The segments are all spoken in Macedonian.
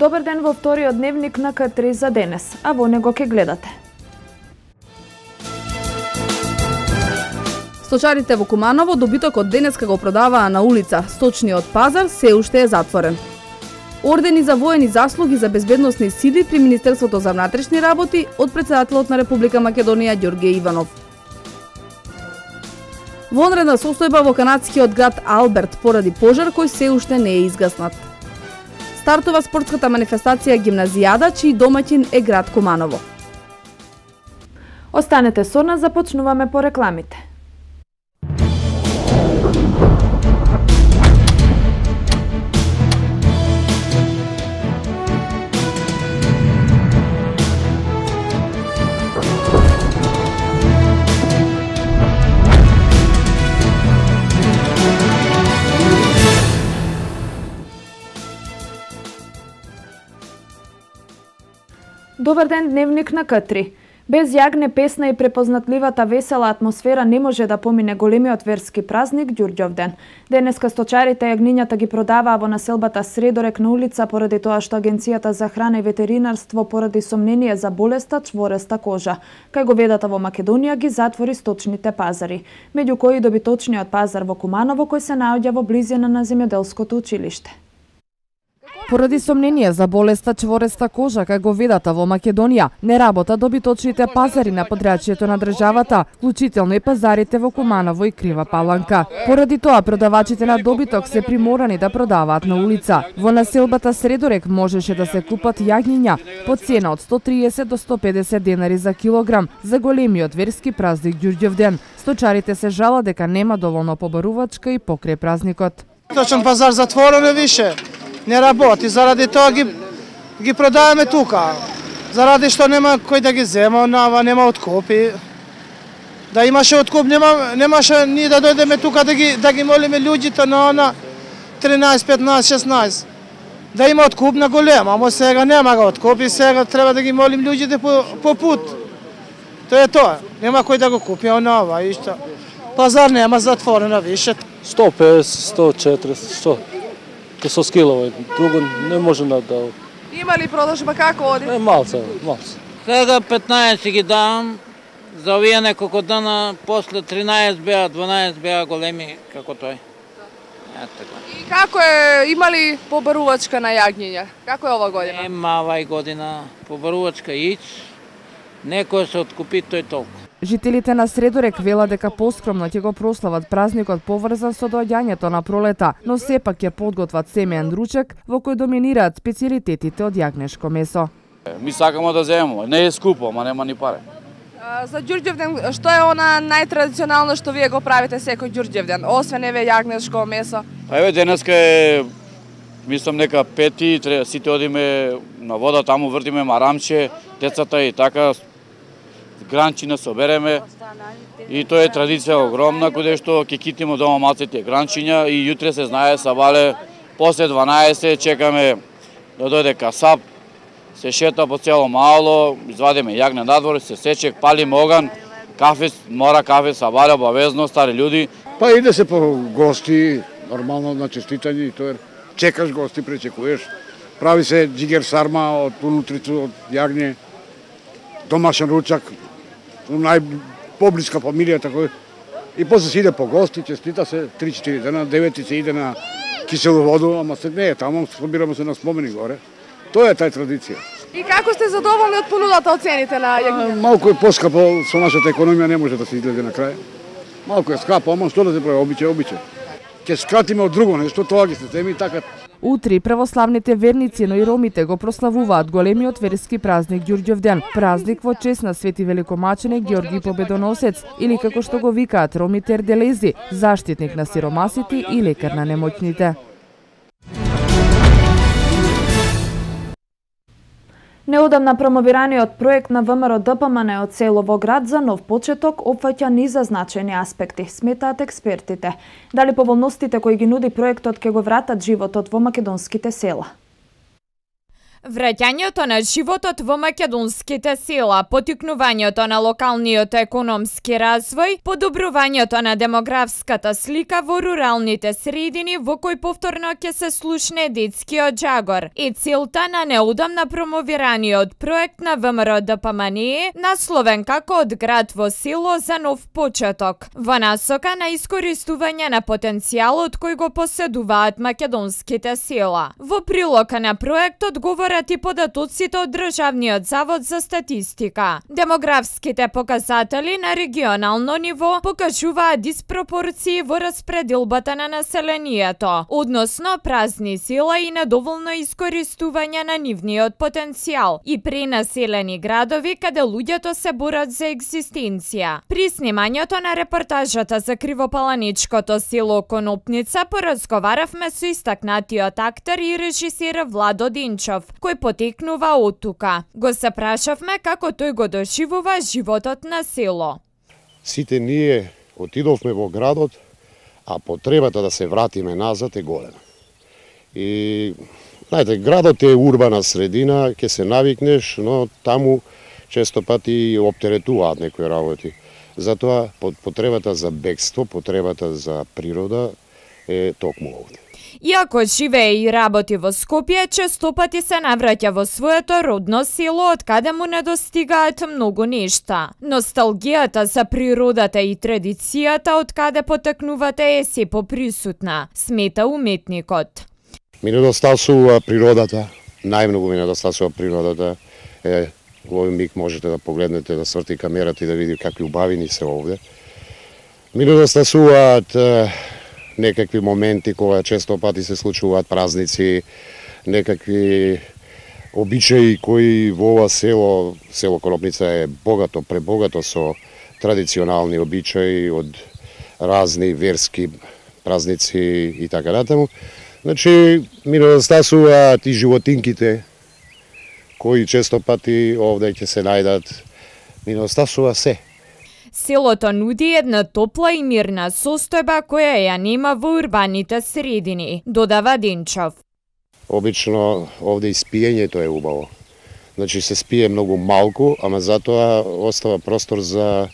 Добар ден во вториот дневник на К3 за денес, а во него ќе гледате. Сточарите во Куманово добитокот денеска го продаваа на улица, сточниот пазар се уште е затворен. Ордени за воени заслуги за безбедносни сили при Министерството за внатрешни работи од председателот на Република Македонија Ѓорѓе Иванов. Вонредна состојба во канадскиот град Алберт поради пожар кој се уште не е изгаснат. Стартува спортската манифестација Гимназијада, чиј домаќин е град Куманово. Останете со нас, започнуваме по рекламите. Добар ден, дневник на К3. Без јагне, песна и препознатливата весела атмосфера не може да помине големиот верски празник Ѓурѓовден. Денеска сточарите јагнињата ги продаваа во населбата Средорек на улица поради тоа што Агенцијата за храна и ветеринарство поради сомнение за болеста чвореста кожа. Кај говедата во Македонија ги затвори сточните пазари, меѓу кои добиточниот пазар во Куманово кој се наоѓа во близина на земјоделското училиште. Поради сомнение за болеста чвореста кожа кај говедата во Македонија, не работа добиточните пазари на подрачјето на државата, вклучително и пазарите во Куманово и Крива Паланка. Поради тоа продавачите на добиток се приморани да продаваат на улица. Во населбата Средорек можеше да се купат јагниња по цена од 130 до 150 денари за килограм за големиот верски празник Ѓурѓовден. Сточарите се жала дека нема доволно побарувачка и покрај празникот. Точен пазар затворен е више. Не работи, заради тоа ги продаваме тука. Заради што нема кој да ги зема, нема откупи. Да имаше откуп, немаше ние да дојдеме тука да ги молиме луѓето на она 13, 15, 16. Да има откуп на голема, ама сега нема го откуп и сега треба да ги молим луѓето по пут. Тоа е тоа. Нема кој да го купи онова и што. Пазар нема, затворено више. 150, 140, 100. Со скилово, друго не може да... Има ли продажба, како оди? Малце. Сега 15 ги давам, за овие неколку дана, после 13 беа, 12 беа големи, како тој. И како е, има ли побарувачка на јагниња? Како е ова година? Нема овај година побарувачка иќ, некој се откупи тој толку. Жителите на Средорек велат дека поскромно ќе го прослават празникот поврзан со доаѓањето на пролета, но сепак ќе подготват семеен ручек во кој доминираат специјалитетите од јагнешко месо. Ми сакамо да земеме, не е скупо, ама нема ни пари. За Ѓурѓовден, што е она најтрадиционално што вие го правите секој Ѓурѓовден, освен еве јагнешко месо? Па еве денеска е, мислам нека 5, сите одиме на вода, таму вртиме марамче, децата и така, гранчина собереме и тоа е традиција огромна, каде што ќе китимо дома малците гранчиња и јутре се знае сабале после 12 чекаме да дојде касап, се шета по цело мало, извадиме јагне надвор, се сече, палиме оган, кафе, мора кафе сабале обавезно, стари луѓе. Па иде се по гости, нормално на честитање и тоа чекаш гости, пречекуваш. Прави се џигер сарма од унутрицу од јагне, домашен ручак, најпоблиска фамилија, така и после се иде по гости, честита се 3-4 дена, 9 се иде на кисело воду, ама се не е таму, собираме се на спомени горе. Тоа е тај традиција. И како сте задоволни од понудата од цените на јагнињата? Малку е поскапо, со нашата економија не може да се излезе на крај. Малку е скапо, ама што да се прави, обичај. Ќе скратиме од друго нешто, тоа ги се теми и така. Утре православните верници, но и ромите го прославуваат големиот верски празник Ѓурѓовден, празник во чест на свети великомаченик Ѓорги Победоносец или како што го викаат ромите Ерделези, заштитник на сиромасите и лекар на немоќните. Неодамна промовираниот проект на ВМРО ДПМН од село во град за нов почеток опфаќа низа значајни аспекти, сметаат експертите. Дали поволностите кои ги нуди проектот ќе го вратат животот во македонските села? Враќањето на животот во македонските села, поттикнувањето на локалниот економски развој, подобрувањето на демографската слика во руралните средини во кој повторно ќе се слушне детскиот джагор и целта на неудамна промовираниот проект на ВМРО ДПМНЕ насловен како од град во село за нов почеток, во насока на искористување на потенцијалот кој го поседуваат македонските села. Во прилог на проектот говорат и податоците од Државниот завод за статистика. Демографските показатели на регионално ниво покажуваат диспропорции во распределбата на населението, односно празни села и недоволно искористување на нивниот потенцијал и пренаселени градови каде луѓето се борат за екзистенција. При снимањето на репортажата за кривопаланичкото село Конопница поразговаравме со истакнатиот актер и режисер Владо Денчов, кој потекнува од тука. Го се прашавме како тој го доживува животот на село. Сите ние отидовме во градот, а потребата да се вратиме назад е голема. И, знаете, градот е урбана средина, ќе се навикнеш, но таму често пати оптеретуваат некои работи. Затоа потребата за бегство, потребата за природа е токму овде. Иако живее и работи во Скопје, често пати се навраќа во своето родно село од каде му недостигаат многу нешта. Носталгијата за природата и традицијата од каде потекнувате е се поприсутна, смета уметникот. Ми недостасува природата, најмногу ми недостасува природата. Во овој миг можете да погледнете, да сврти камерата и да види какви убавини се овде. Ми недостасуваат некакви моменти кога често пати се случуваат празници, некакви обичаи кои во ова село Конопница е богато, пребогато со традиционални обичаи од разни верски празници и така натаму. Значи, ми недостасуваат и животинките кои често пати овде ќе се најдат. Ми недостасува се. Селото нуди една топла и мирна состојба која ја нема во урбаните средини, додава Денчов. Обично овде и спиењето е убаво. Значи се спие многу малку, ама затоа остава простор за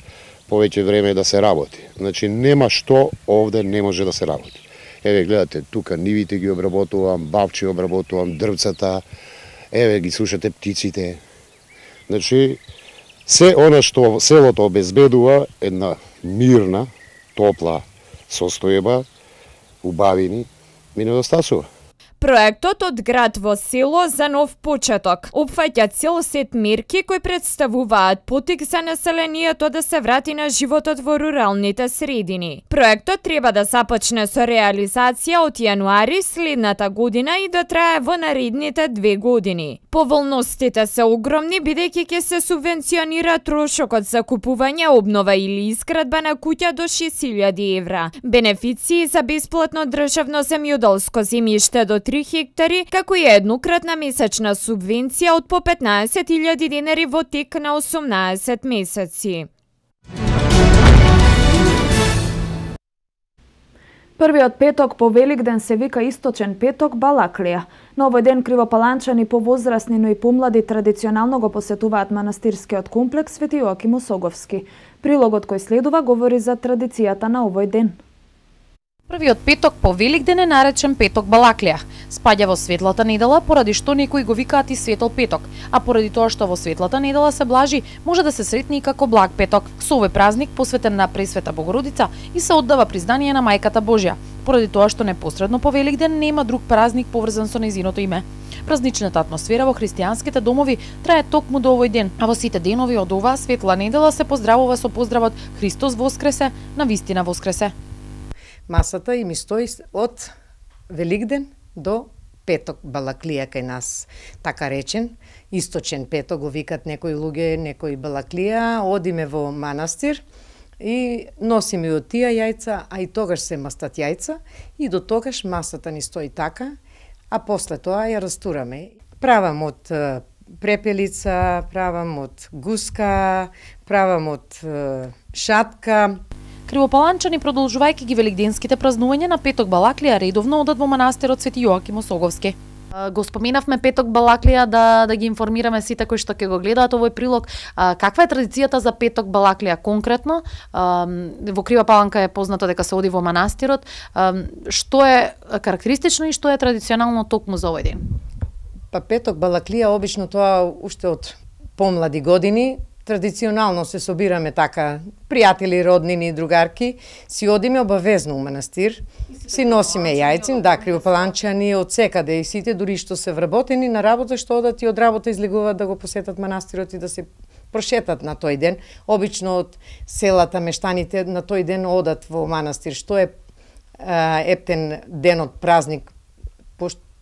повеќе време да се работи. Значи нема што овде не може да се работи. Еве гледате, тука нивите ги обработувам, бавчи обработувам, дрвцата, еве ги слушате птиците. Значи се она што селото обезбедува една мирна, топла состојба, убавини, ми недостасува. Проектот од град во село за нов почеток опфаќа цел сет мерки кои представуваат потик за населението да се врати на животот во руралните средини. Проектот треба да започне со реализација од јануари следната година и да трае во наредните 2 години. Поволностите се огромни бидејќи ќе се субвенционира трошокот за купување, обнова или изградба на куќа до 6.000 евра. Бенефиции за бесплатно државно земјоделско земјиште до 3 хектари, како и еднократна месечна субвенција од по 15.000 денари во тек на 18 месеци. Првиот петок по Великден се вика Источен петок Балаклија. На овој ден кривопаланчани повозрасни, но и помлади традиционално го посетуваат манастирскиот комплекс Свети Јоаким Осоговски. Прилогот кој следува говори за традицијата на овој ден. Првиот петок по Великден е наречен петок Балаклија. Спаѓа во светлата недела, поради што некои го викаат и светол петок, а поради тоа што во светлата недела се блажи, може да се сретни и како благ петок. Со овој празник посветен на Пресвета Богородица и се оддава признание на Мајката Божја, поради тоа што непосредно по Великден нема друг празник поврзан со нејзиното име. Празничната атмосфера во христијанските домови трае токму до овој ден, а во сите денови од оваа светла недела се поздравува со поздравот Христос воскресе, навистина воскресе. Масата им стои од Великден до петок Балаклија кај нас. Така речен, Источен петок го викат некои луѓе, некои Балаклија, одиме во манастир и носиме од тие јајца, а и тогаш се мастат јајца и до тогаш масата ни стои така, а после тоа ја растураме. Правам од препелица, правам од гуска, правам од шатка. Кривопаланчани, продолжувајќи ги великденските празнувања на петок Балаклија, редовно одат во манастирот Свети Јоаким Осоговски. Го споменавме Петок Балаклија да ги информираме сите кои што ќе го гледаат овој прилог. Каква е традицијата за Петок Балаклија конкретно? Во Крива Паланка е познато дека се оди во манастирот. Што е карактеристично и што е традиционално токму за овој ден? Па Петок Балаклија обично тоа уште од помлади години. Традиционално се собираме така, пријатели, роднини, другарки, си одиме обавезно у манастир, си носиме јајци, да, кривопаланчани од секаде и сите, дури што се вработени на работа, што одат и од работа излегуваат да го посетат манастирот и да се прошетат на тој ден. Обично од селата мештаните на тој ден одат во манастир, што е ептен денот празник,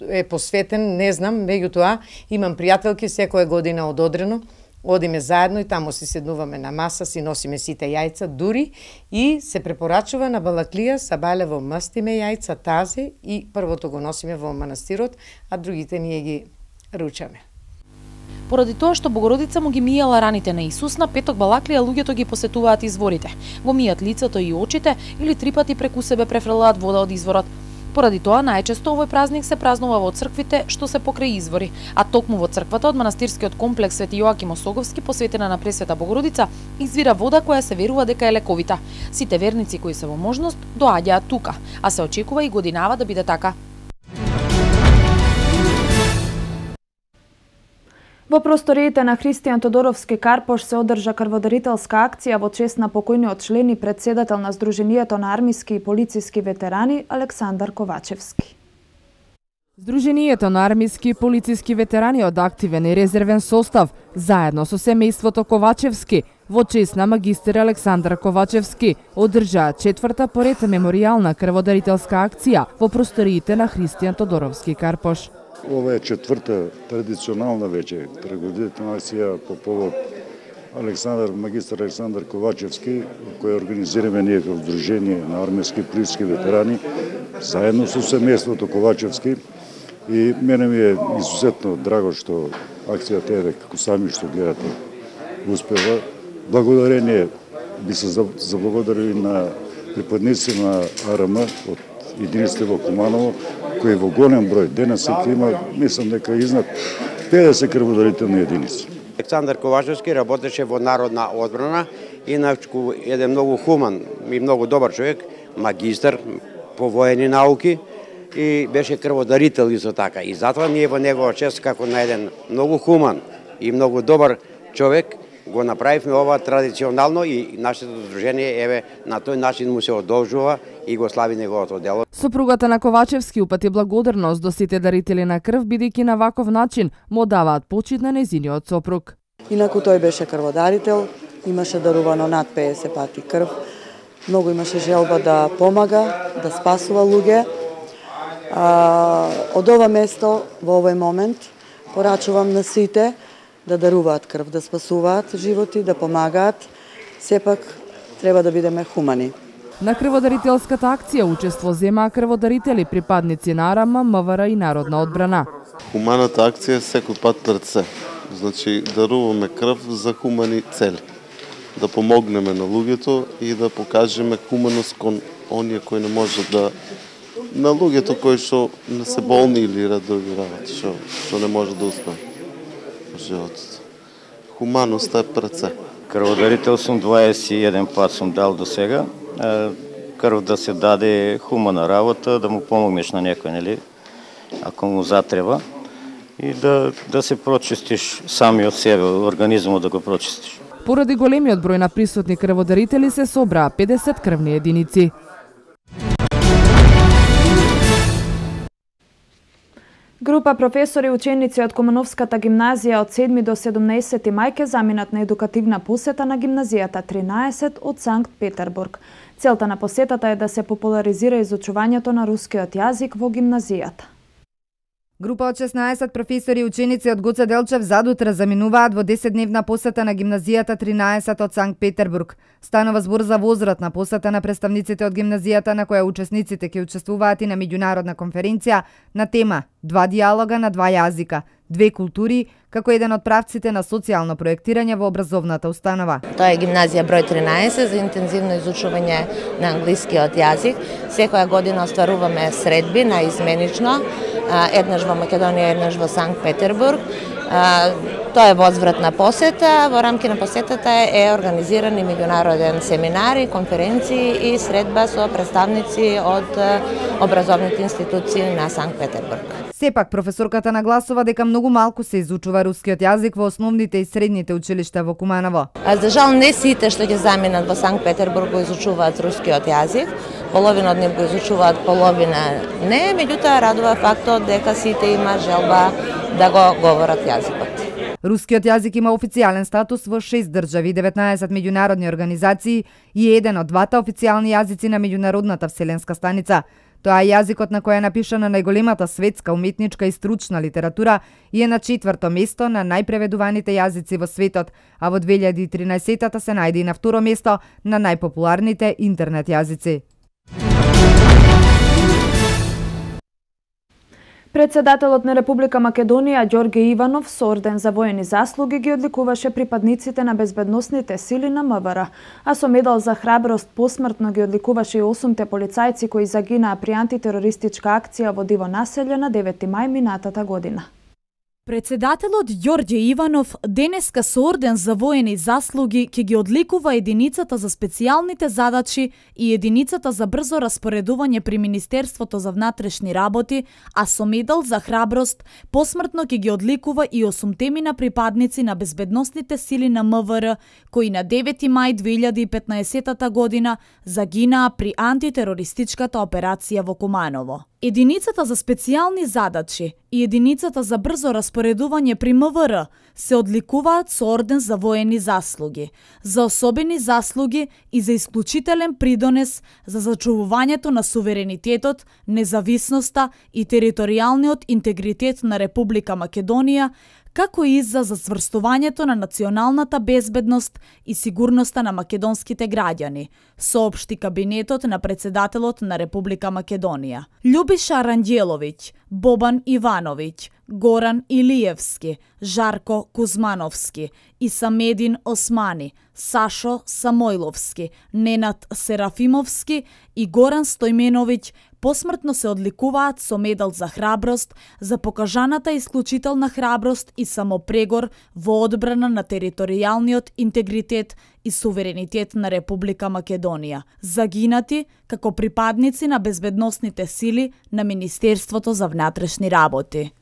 е посветен, не знам, меѓутоа имам пријателки секоја година од Одрено, одиме заедно и таму си седнуваме на маса, си носиме сите јајца, дури и се препорачува на Балаклија сабалево мастиме јајца тазе и првото го носиме во манастирот, а другите ние ги ручаме. Поради тоа што Богородица му ги мијала раните на Исус, на Петок Балаклија луѓето ги посетуваат изворите. Го мијат лицето и очите или 3 пати преку себе префрлаат вода од изворот. Поради тоа најчесто овој празник се празнува во црквите што се покрај извори, а токму во црквата од манастирскиот комплекс Свети Јоаким Осоговски, посветена на Пресвета Богородица, извира вода која се верува дека е лековита. Сите верници кои се во можност доаѓаат тука, а се очекува и годинава да биде така. Во просториите на Христијан Тодоровски Карпош се одржа крводарителска акција во чест на покојниот член и председател на Сдруженијето на армиски и полициски ветерани Александар Ковачевски. Сдруженијето на армиски и полициски ветерани од активен и резервен состав, заедно со семејството Ковачевски, во чест на магистер Александар Ковачевски, одржаа 4-та поред меморијална крводарителска акција во просториите на Христијан Тодоровски Карпош. Ова е 4-та традиционална веќе крводарителна акција по повод магистар Александар Ковачевски, која организираме ние како Сдружение на армиски и полициски ветерани, заедно со семејството Ковачевски. И мене ми е изусетно драго што акцијата е, како сами што гледате, успева. Благодарение би се заблагодарили на припадници на АРМ од единиците во Куманово, кои во голем број денес има, мислам дека изнад 50 крводарителни единици. Александар Ковачевски работеше во народна одбрана, иначку еден многу хуман и многу добар човек, магистар по воени науки и беше крводарител исто така. И затоа ние во негова чест како на еден многу хуман и многу добар човек го направивме ова традиционално и нашето сдружение еве на тој начин му се одолжува и го слави неговото дело. Сопругата на Ковачевски упати благодарност до сите дарители на крв, бидејќи на ваков начин му даваат почит на нејзиниот сопруг. Инаку тој беше крводарител, имаше дарувано над 50 пати крв, многу имаше желба да помага, да спасува луѓе. Од ова место, во овој момент, порачувам на сите да даруваат крв, да спасуваат животи, да помагаат. Сепак треба да бидеме хумани. На крводарителската акција учество земаа крводарители, припадници на АРМ, МВР и Народна одбрана. Хуманата акција секој пат пред се. Значи, даруваме крв за хумани цели. Да помогнеме на луѓето и да покажеме хуманост кон оние кои не можат да... на луѓето кои што не се болни или други работи, што не може да успеат во животот. Хуманоста е пред се. Крводарител сум 21 пат сум дал до сега. Крв да се даде хумана работа, да му помогнеш на некој, нели, ако му затреба. И да се прочистиш сами од себе, организмот да го прочистиш. Поради големиот број на присутни крводарители се собраа 50 крвни единици. Група професори и ученици од Кумановската гимназија од 7 до 17 мај ке заминат на едукативна посета на гимназијата 13 од Санкт Петербург. Целта на посетата е да се популаризира изучувањето на рускиот јазик во гимназијата. Група од 16 професори и ученици од Гоце Делчев задутре заминуваат во 10-дневна посета на гимназијата 13 од Санкт Петербург. Станува збор за возвратна посета на представниците од гимназијата на која учесниците ќе учествуваат и на меѓународна конференција на тема «Два диалога на два јазика». две култури, како еден од правците на социјално проектирање во образовната установа. Тоа е гимназија број 13 за интензивно изучување на англискиот јазик. Секоја година остваруваме средби наизменично, еднаш во Македонија, еднаш во Санкт Петербург. Тоа е возвратна посета. Во рамки на посетата е организиран и меѓународен семинари, конференции и средба со представници од образовните институции на Санкт Петербург. Сепак, професорката нагласува дека многу малку се изучува рускиот јазик во основните и средните училишта во Куманово. За жал, не сите што ќе заминат во Санкт Петербург го изучуваат рускиот јазик. Половина од нив го изучуваат, половина не, меѓутоа радува фактот дека сите има желба да го говорат јазикот. Рускиот јазик има официјален статус во 6 држави, 19 меѓународни организации и еден од двата официјални јазици на меѓународната вселенска станица. Тоа е јазикот на кој е напишана најголемата светска уметничка и стручна литература и е на 4-то место на најпреведуваните јазици во светот, а во 2013-та се најде и на 2-ро место на најпопуларните интернет јазици. Председателот на Република Македонија Ѓорѓе Иванов со орден за воени заслуги ги одликуваше припадниците на безбедносните сили на МВР, а со медал за храброст посмртно ги одликуваше и 8 полицајци кои загинаа при антитерористичка акција во Диво населје на 9 мај минатата година. Председателот Ѓорѓе Иванов денеска со орден за воени заслуги ќе ги одликува единицата за специјалните задачи и единицата за брзо распоредување при Министерството за внатрешни работи, а со медал за храброст посмртно ќе ги одликува и 8 припадници на безбедносните сили на МВР кои на 9 мај 2015 година загинаа при антитерористичката операција во Куманово. Единицата за специјални задачи и единицата за брзо распоредување при МВР се одликуваат со орден за воени заслуги, за особени заслуги и за исклучителен придонес за зачувувањето на суверенитетот, независноста и територијалниот интегритет на Република Македонија, како и за зацврстувањето на националната безбедност и сигурноста на македонските граѓани, соопшти кабинетот на председателот на Република Македонија. Љубиша Ранѓеловиќ, Бобан Ивановиќ, Горан Илиевски, Жарко Кузмановски, Исамедин Османи, Сашо Самойловски, Ненад Серафимовски и Горан Стојменовиќ посмртно се одликуваат со медал за храброст, за покажаната исклучителна храброст и самопрегор во одбрана на територијалниот интегритет и суверенитет на Република Македонија, загинати како припадници на безбедносните сили на Министерството за внатрешни работи.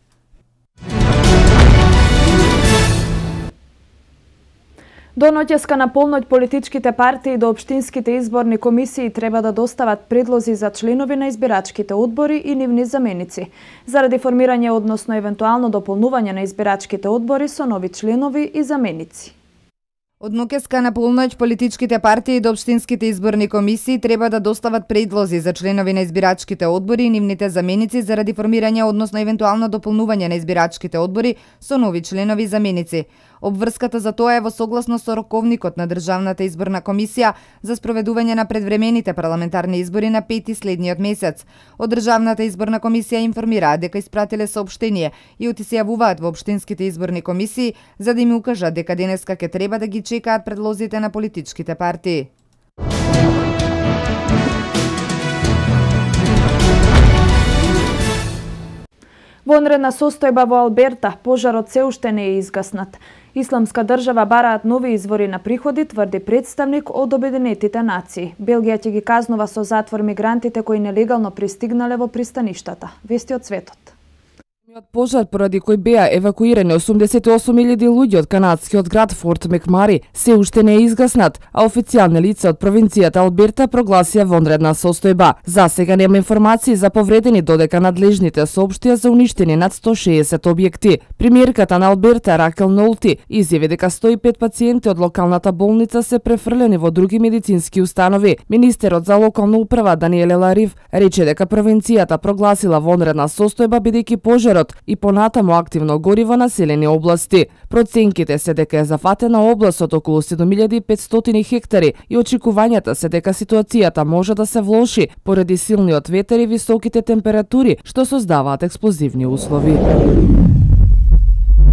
До ноќеска на полноќ политичките партии до општинските изборни комисии треба да достават предлози за членови на избирачките одбори и нивни заменици, заради формирање, односно евентуално дополнување на избирачките одбори со нови членови и заменици. Од ноќеска на полноќ политичките партии до општинските изборни комисии треба да достават предлози за членови на избирачките одбори и нивните заменици заради формирање, односно евентуално дополнување на избирачките одбори со нови членови и заменици. Обврската за тоа е во согласно со роковникот на Државната изборна комисија за спроведување на предвремените парламентарни избори на 5 следниот месец. Од Државната изборна комисија информираат дека испратиле соопштение и оти се јавуваат во општинските изборни комисии за да им укажат дека денеска ќе треба да ги чекаат предлозите на политичките партии. Вонредна состојба во Алберта, пожарот се уште не е изгаснат. Исламска држава бараат нови извори на приходи, тврди представник од Обединетите нации. Белгија ќе ги казнува со затвор мигрантите кои нелегално пристигнале во пристаништата. Вести од светот. Пожар поради кој беа евакуирани 88.000 луѓе од канадскиот град Форт Мекмари се уште не е изгаснат, а официјални лица од провинцијата Алберта прогласија вонредна состојба. За сега нема информации за повредени, додека надлежните соопштија за уништени над 160 објекти. Премиерката на Алберта Ракел Нолти изјави дека 105 пациенти од локалната болница се префрлени во други медицински установи. Министерот за локална управа Даниеле Ларив рече дека провинцијата прогласила вонредна состојба бидејќи пожарот и понатаму активно гори во населени области. Проценките се дека е зафатена област од околу 7500 хектари и очекувањата се дека ситуацијата може да се влоши поради силниот ветер и високите температури што создаваат експлозивни услови.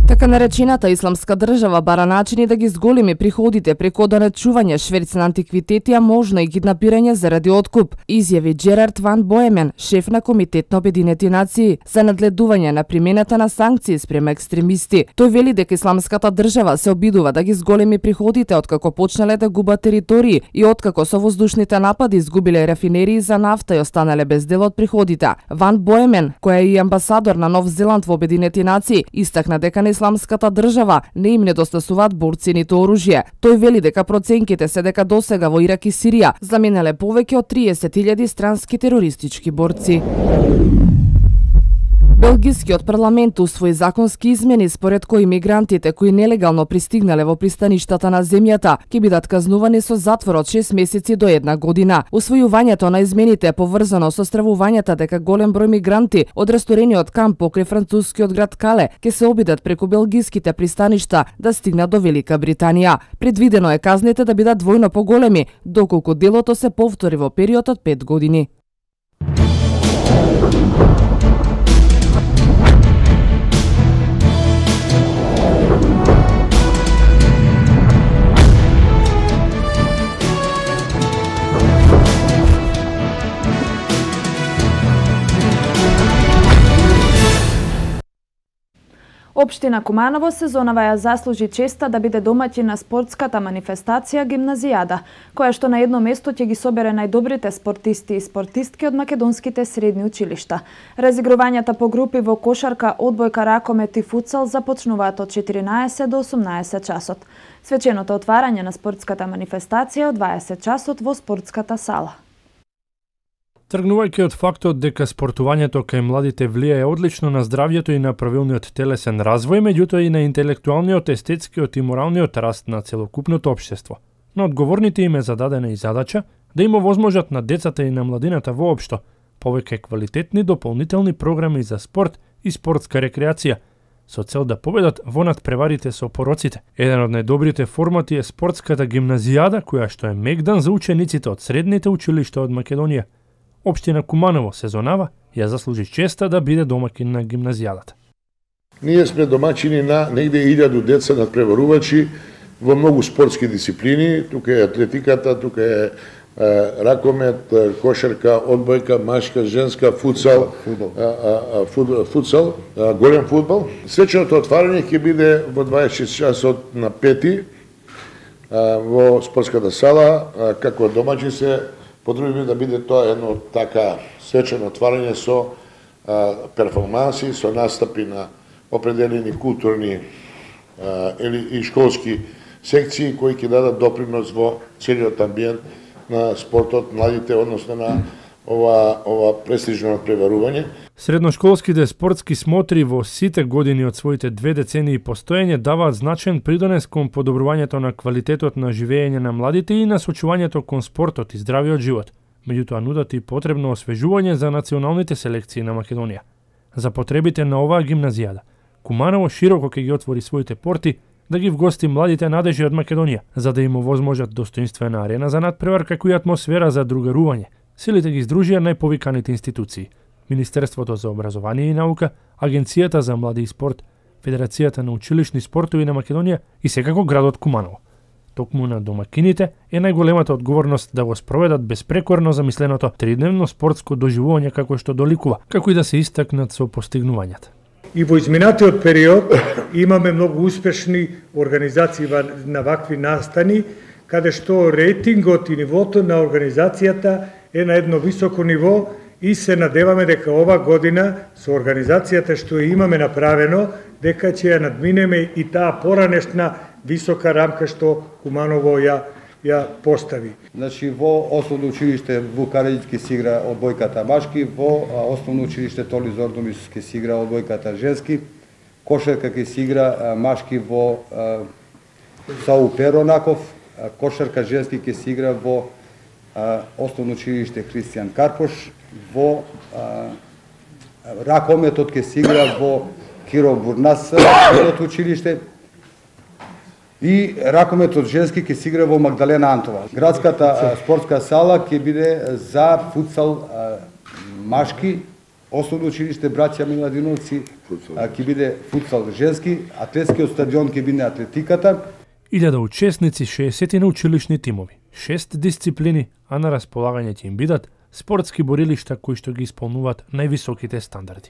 Така наречената исламска држава бара начини да ги зголеми приходите преку донечување шверц на антиквитети, а можно и киднапирање заради откуп, изјави Джерард Ван Боемен, шеф на Комитет на Обединети нации за надледување на примената на санкции спрема екстремисти. Тој вели дека исламската држава се обидува да ги зголеми приходите откако почнале да губат територии и откако со воздушните напади изгубиле рафинерии за нафта и останале без дел од приходите. Ван Боемен, кој е и амбасадор на Нов Зеланд во Обединети нации, истакна дека на исламската држава не им недостасуваат борци ниту оружје. Тој вели дека проценките се дека досега во Ирак и Сирија заминеле повеќе од 30.000 странски терористички борци. Белгискиот парламент усвои законски измени според кои мигрантите кои нелегално пристигнале во пристаништата на земјата ќе бидат казнувани со затвор од 6 месеци до 1 година. Усвојувањето на измените е поврзано со стравувањата дека голем број мигранти од ресторениот камп покрај францускиот град Кале ќе се обидат преку белгиските пристаништа да стигнат до Велика Британија. Предвидено е казните да бидат двојно поголеми, доколку делото се повтори во период од 5 години. Општина Куманово сезонава ја заслужи честа да биде домаќин на спортската манифестација Гимназијада, која што на едно место ќе ги собере најдобрите спортисти и спортистки од македонските средни училишта. Разигрувањата по групи во кошарка, одбојка, ракомет и футсал започнуваат од 14 до 18 часот. Свеченото отварање на спортската манифестација од 20 часот во спортската сала. Тргнувајќи од фактот дека спортувањето кај младите влијае одлично на здравјето и на правилниот телесен развој, меѓутоа и на интелектуалниот, естетскиот и моралниот раст на целокупното општество. На одговорните им е зададена и задача да им овозможат на децата и на младината воопшто повеќе квалитетни дополнителни програми за спорт и спортска рекреација, со цел да победат во надпреварите со пороците. Еден од најдобрите формати е спортската гимназијада, која што е мегдан за учениците од средните училишта од Македонија. Општина Куманово сезонава ја заслужи честа да биде домаќин на гимназијадата. Ние сме домаќини на негде 1000 деца надпреварувачи во многу спортски дисциплини. Тука е атлетиката, тука е ракомет, кошарка, одбојка, машка, женска, футсал, голем фудбал. Свеченото отварање ќе биде во 26 часот на 5 во спортската сала, како домаќин се потребно да биде тоа едно така свечено отварање со перформанси, со настапи на определени културни и школски секции кои ќе дадат допринос во целиот амбиент на спортот, младите, односно на ова престижно надпреварување. Средношколските спортски смотри во сите години од своите 2 децении постоење даваат значаен придонес кон подобрувањето на квалитетот на живење на младите и насочувањето кон спортот и здравиот живот. Меѓутоа нудат и потребно освежување за националните селекции на Македонија. За потребите на оваа гимназијада, Куманово широко ќе ги отвори своите порти да ги вгости младите надежи од Македонија, за да им овозможат достоинствена арена за надпревар како и атмосфера за другарување. Силите ги издружија најповиканите институции: Министерството за образование и наука, Агенцијата за млади и спорт, Федерацијата на училишни спортови на Македонија и секако градот Куманово. Токму на домакините е најголемата одговорност да го спроведат безпрекорно замисленото тридневно спортско доживување како што доликува, како и да се истакнат со постигнувањата. И во изминатиот период имаме многу успешни организации на вакви настани, каде што рейтингот и нивото на организацијата е на едно високо ниво и се надеваме дека ова година со организацијата што имаме направено, дека ќе ја надминеме и таа поранешна висока рамка што Куманово ја постави. Значи во основно училиште Вук Караѓиć ќе се игра одбојката машки, во основно училиште Толи Зордумис ќе се игра одбојката женски, кошарка ќе се игра машки во Сау Перонаков, кошарка женски ќе се игра во основно училиште Христијан Карпош, во ракометот ќе се игра во Киро Бурнас училиште, и ракометот женски ќе се игра во Магдалена Антова. Градската спортска сала ќе биде за футсал машки, Основно училиште Браќа Миладиновци ќе биде футсал женски, атлетскиот стадион ќе биде атлетиката. 1000 учесници, 60 на училишни тимови, 6 дисциплини, а на располагање ќе им бидат спортски борилишта кои што ги исполнуваат највисоките стандарди.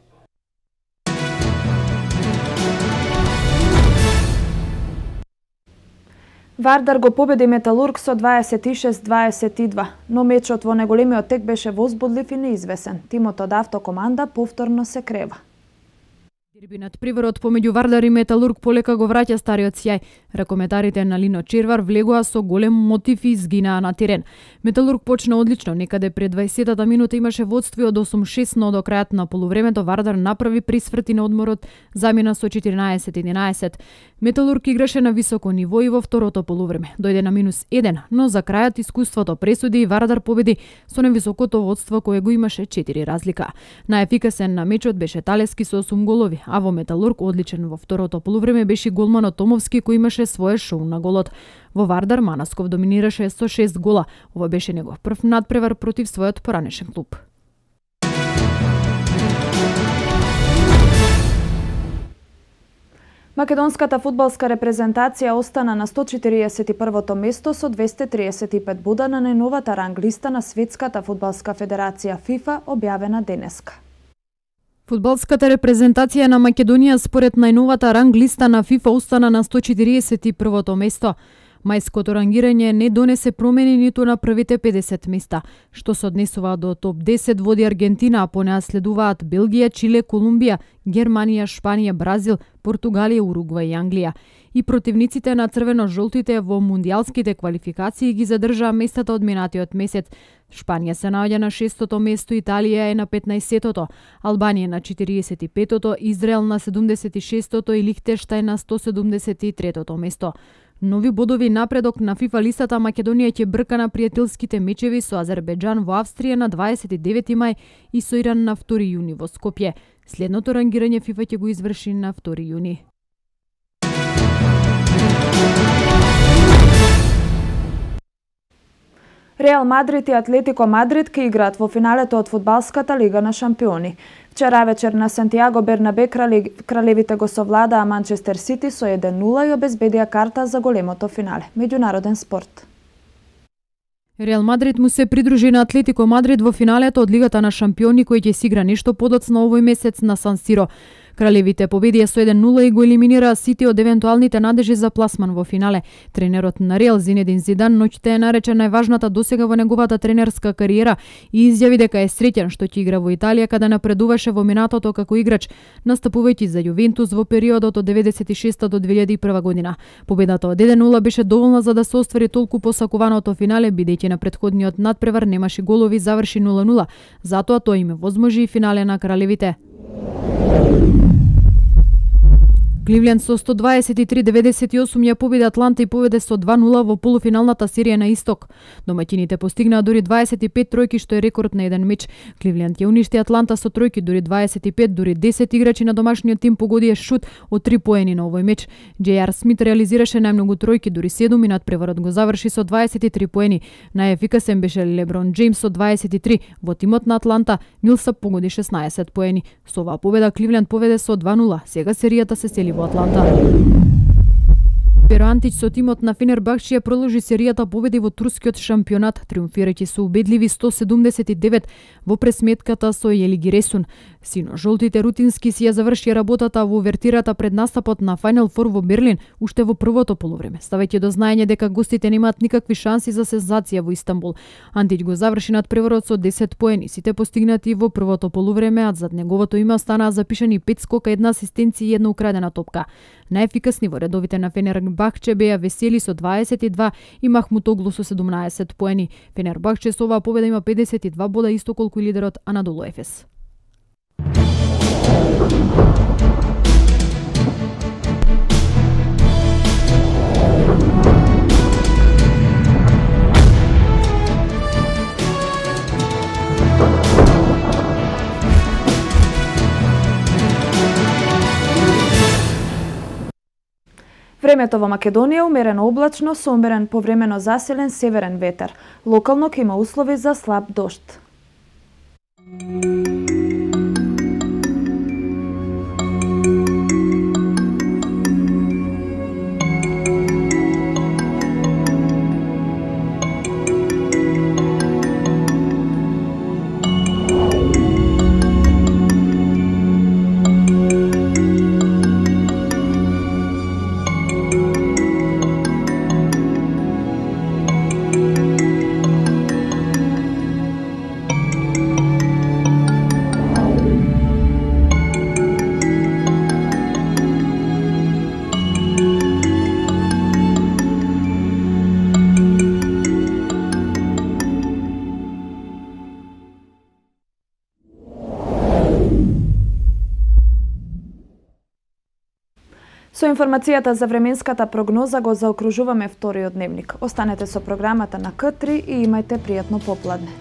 Вардар го победи Металург со 26-22, но мечот во неголемиот тек беше возбудлив и неизвесен. Тимот од автокоманда повторно се крева. Дербинат приворот помеѓу Вардар и Металург полека го враќа стариот сјај. Ракометарите на Лино Червар влегоа со голем мотив и изгинаа на терен. Металург почна одлично, некаде пред 20-та минута имаше водство од 8-6, но до крајот на полувремето Вардар направи присврти на одморот, замена со 14-11. Металург играше на високо ниво и во второто полувреме. Дојде на -1, но за крајот искуството пресуди и Вардар победи со невисокото водство кое го имаше 4 разлика. Најефикасен на мечот беше Талески со 8 голови, а во Металург одличен во второто полувреме беше голманот Томовски кој имаше свое шоу на голот. Во Вардар Манасков доминираше со 6 гола. Ова беше негов прв надпревар против својот поранешен клуб. Македонската фудбалска репрезентација остана на 141-то место со 235 бода на најновата ранг листа на Светската фудбалска федерација ФИФА, објавена денеска. Фудбалската репрезентација на Македонија според најновата ранг листа на ФИФА остана на 141-то место. Мајското рангирање не донесе промени ниту на првите 50 места, што се однесува до топ 10 води Аргентина, а по неа следуваат Белгија, Чиле, Колумбија, Германија, Шпанија, Бразил, Португалија, Уругвај и Англија. И противниците на црвено-жолтите во мундијалските квалификации ги задржаа местата од минатиот месец. Шпанија се наоѓа на 6-то место, Италија е на 15-тото, Албанија на 45-тото, Израел на 76-тото и Лихтенштајн на 173-тото место. Нови бодови напредок на ФИФА листата Македонија ќе брка на пријателските мечеви со Азербејџан во Австрија на 29 мај и со Иран на 2 јуни во Скопје. Следното рангирање ФИФА ќе го изврши на 2 јуни. Реал Мадрид и Атлетико Мадрид ќе играат во финалето од фудбалската лига на шампиони. Вчера вечер на Сантијаго Бернабе кралевите го совладаа Манчестер Сити со 1-0 и обезбедија карта за големото финале. Меѓународен спорт. Реал Мадрид му се придружи на Атлетико Мадрид во финалето од Лигата на шампиони кој ќе се игра нешто подоцна овој месец на Сан Сиро. Кралевите победија со 1-0 и го елиминираа Сити од евентуалните надежи за пласман во финале. Тренерот на Реал Зинедин Зидан ноќта е наречен најважната досега во неговата тренерска кариера и изјави дека е среќен што ќе игра во Италија каде напредуваше во минатото како играч, настапувајќи за Јувентус во периодот од 96 до 2001 година. Победата од 1-0 беше доволна за да се оствари толку посакуваното финале, бидејќи на претходниот надпревар немаше голови, заврши 0-0. Затоа тој им возможи и финале на кралевите. Кливленд со 123-98 ја победи Атланта и поведе со 2-0 во полуфиналната серија на Исток. Домаќините постигнаа дури 25 тројки, што е рекорд на еден меч. Кливленд ја уништи Атланта со тројки, дури 25, дури 10 играчи на домашниот тим погодија шут од 3 поени на овој меч. J.R. Смит реализираше најмногу тројки, дури 7 и надпреварот го заврши со 23 поени. Најефикасен беше Леброн Джеймс со 23, во тимот на Атланта Милсап погоди 16 поени. Со оваа победа Кливленд поведе со 2-0. Сега серијата се сели во Атланта. Перо Антич со тимот на Фенербахче продолжи серијата победи во турскиот шампионат, триумфирајќи со убедливи 179 во пресметката со Јелигиресун. Сино-жолтите рутински си ја заврши работата во увертирата пред настапот на Final Four во Берлин уште во првото полувреме, ставајќи до знаење дека гостите немаат никакви шанси за сензација во Истанбул. Антич го заврши надпреварот со 10 поени, сите постигнати во првото полувреме, а зад неговото име останаа запишани 5 скока, 1 асистенција и 1 украдена топка. Најефикасни во редовите на Фенербахче беа Весели со 22 и Махмутоглу со 17 поени. Фенербахче со оваа победа има 52 бода, исто колку и лидерот Анадолу Ефес. Времето во Македонија умерено облачно со умерен повремено заселен северен ветер. Локално ќе има услови за слаб дожд. Со информацијата за временската прогноза го заокружуваме вториот дневник. Останете со програмата на К3 и имајте пријатно попладне.